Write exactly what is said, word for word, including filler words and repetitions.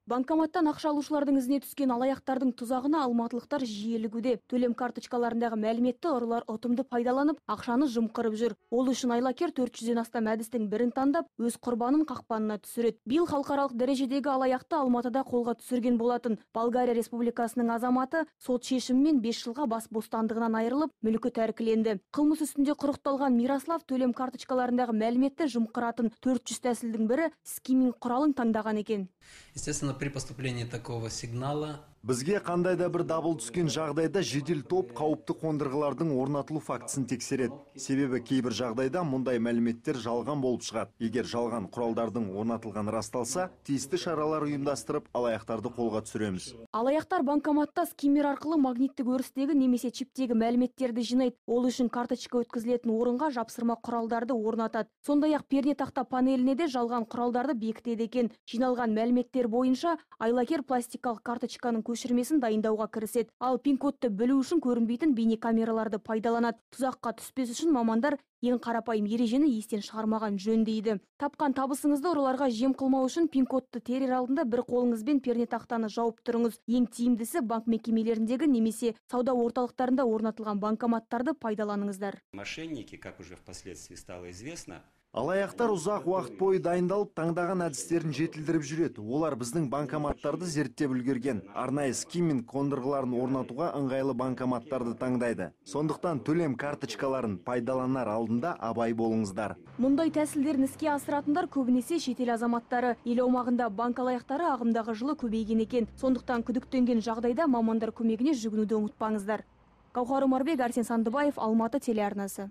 Банкоматтан ақша алушылардың ізіне түскен алаяқтардың тұзағына алматылықтар жиелігуде. Төлем карточкаларындағы мәліметті ұрылар ұтымды пайдаланып, ақшаны жымқырып жүр. Ол үшін айлакер төрт жүзден астам әдістің бірін таңдап, өз құрбанын қақпанына түсіреді. Биыл халықаралық дәрежедегі алаяқты Алматыда қолға түсірген болатын. Болгария Республикасының азаматы сот шешімімен бес жылға бас бостандығынан айырылып, мүлкі тәркіленді. Қылмыс үстінде құрықталған Мирослав төлем карточкаларындағы мәліметті жымқыратын төрт жүз тәсілдің бірі скиминг құралын таңдаған екен. Естественно, при поступлении такого сигнала бізге қандай да бір дабыл түскен жағдайда жедел топ қауіпті қондырғылардың орнатылу фактісін тексереді. Себебі кейбір жағдайда мұндай мәліметтер жалған болып шығады. Егер жалған құралдардың орнатылған расталса, тиісті шаралар ұйымдастырып, алаяқтарды қолға түсіреміз. Алаяқтар банкоматта скиммер арқылы магниттік өрістегі немесе чиптегі мәліметтерді жинайды. Ол үшін карточка өткізілетін орынға жапсырма құралдарды орнатады. Сондай-ақ пернетақта панеліне де жалған құралдарды бекітеді екен. Жиналған мәліметтер бойынша айлакер пластикалық карточканың көшірмесін дайындауға кіріседі. Ал пин-кодты білу үшін көрінбейтін бейнекамераларды пайдаланады. Тұзаққа түспес үшін мамандар ең қарапайым ережені естен шығармаған жөн дейді. Тапқан табысыңызды ұрыларға жем қылмау үшін пин-кодты терер алдында бір қолыңызбен пернетақтаны жауып тұрыңыз. Ең тиімдісі банк мекемелеріндегі немесе сауда орталықтарында орнатылған банкоматтарды пайдаланыңыздар. Мошенники, как уже впоследствии стало известно, алаяқтар ұзақ уақыт бойы дайындалып, таңдаған әдістерін жетілдіріп жүреді. Олар біздің банкоматтарды зерттеп үлгерген. Арнайы скимминг қондырғыларын орнатуға ыңғайлы банкоматтарды таңдайды. Сондықтан төлем карточкаларын пайдаланар алдында абай болыңыздар. Мұндай тәсілдерін іске асыратындар көбінесе шетел азаматтары. Ел аумағында банк алаяқтары ағымдағы жылы көбейген екен. Сондықтан күдіктенген жағдайда мамандар көмегіне жүгінуді ұмытпаңыздар. Гаухар Омарбек, Арсен Сандыбаев, Алматы телеарнасы.